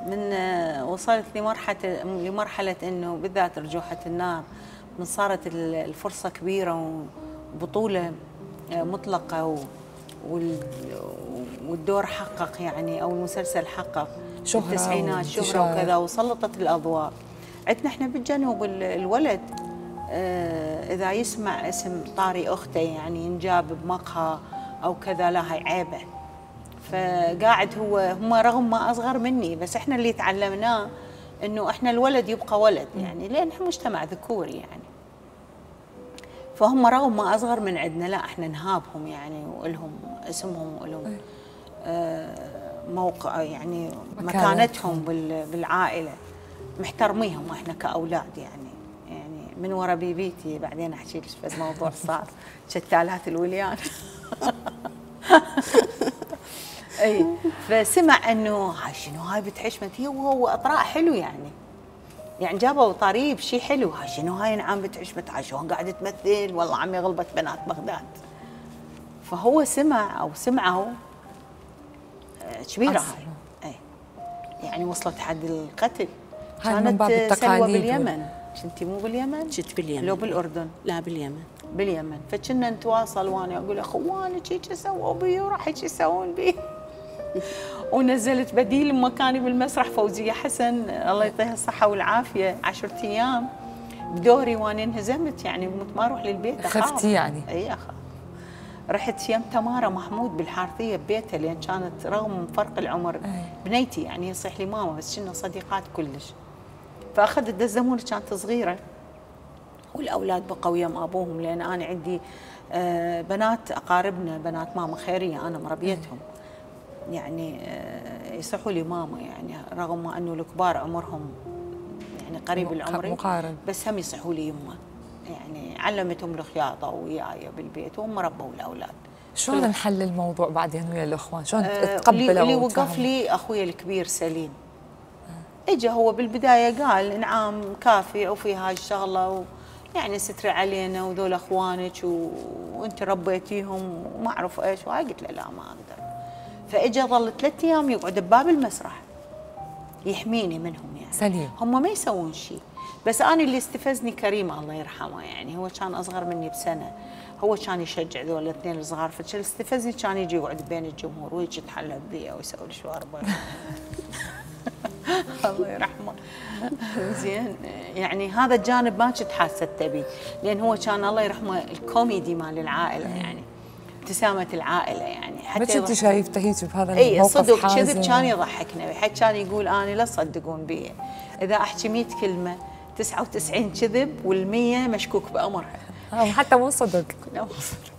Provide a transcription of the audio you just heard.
من وصلت لمرحله انه بالذات ارجوحه النار، من صارت الفرصه كبيره وبطوله مطلقه والدور حقق يعني، او المسلسل حقق شهرة التسعينات شهره وكذا، وسلطت الاضواء. عندنا احنا بالجنوب الولد اذا يسمع اسم طاري اخته يعني ينجاب بمقهى او كذا، لا هي عيبه. فقاعد هم رغم ما اصغر مني، بس احنا اللي تعلمناه انه احنا الولد يبقى ولد يعني، لان احنا مجتمع ذكوري يعني. فهم رغم ما اصغر من عندنا، لا احنا نهابهم يعني، ولهم اسمهم ولهم موقع يعني مكانتهم بالعائله، محترميهم احنا كاولاد يعني من ورا بيبيتي بعدين احكي لك بس موضوع صار شتالات الوليان. اي فسمع انه هاي شنو هاي بنت حشمت، هي وهو اطراء حلو يعني جابوا طريب شيء حلو، هاي شنو هاي نعم بنت حشمت، هاي شلون قاعده تمثل، والله عمي غلبت بنات بغداد. فهو سمع او سمعوا كبيره هاي، اي يعني وصلت حد القتل. كانت سلوى باليمن، كنتي مو باليمن؟ كنت باليمن. لو بالاردن؟ لا باليمن. باليمن. فكنا نتواصل وانا اقول اخوانك هيك سووا بي وراح هيك يسوون بي. ونزلت بديل مكاني بالمسرح فوزيه حسن الله يعطيها الصحه والعافيه 10 ايام بدوري، وانا انهزمت يعني ما اروح للبيت اخاف. خفتي يعني؟ اي اخاف. رحت يم تمارا محمود بالحارثيه ببيتها، لان كانت رغم فرق العمر بنيتي يعني يصيح لي ماما، بس كنا صديقات كلش. فاخذت دزموني كانت صغيره، والاولاد بقوا يم ابوهم، لان انا عندي بنات اقاربنا بنات ماما خيريه انا مربيتهم يعني، يصحوا لي ماما يعني، رغم ما انه الكبار عمرهم يعني قريب العمر مقارب، بس هم يصحوا لي يمه يعني، علمتهم الخياطه وياي بالبيت وهم ربوا الاولاد. شلون نحل الموضوع بعدين ويا الاخوان؟ شلون تقبلوا؟ اللي وقف لي اخوي الكبير سليم، اجى هو بالبدايه قال نعم كافي وفي هاي الشغله يعني ستري علينا وذول اخوانك وانت ربيتيهم وما اعرف ايش، وهاي قلت له لا ما اقدر. فاجى ظل 3 ايام يقعد بباب المسرح يحميني منهم يعني. سليم. هم ما يسوون شيء، بس انا اللي استفزني كريم الله يرحمه يعني، هو كان اصغر مني بسنه، هو كان يشجع ذول الاثنين الصغار، فاللي استفزني كان يجي يقعد بين الجمهور ويجي يتحلى بي ويسوي لي شواربه. الله يرحمه. زين يعني هذا الجانب ما كنت حاسه به، لان هو كان الله يرحمه الكوميدي مال العائله يعني، ابتسامه العائله يعني. حتى بس انت شايفته هيك بهذا الموقف صدق كذب كان يضحكنا، حتى كان يقول انا لا تصدقون بي، اذا احكي 100 كلمه 99 كذب وال100 مشكوك بامرها. حتى مو صدق. لا مو صدق.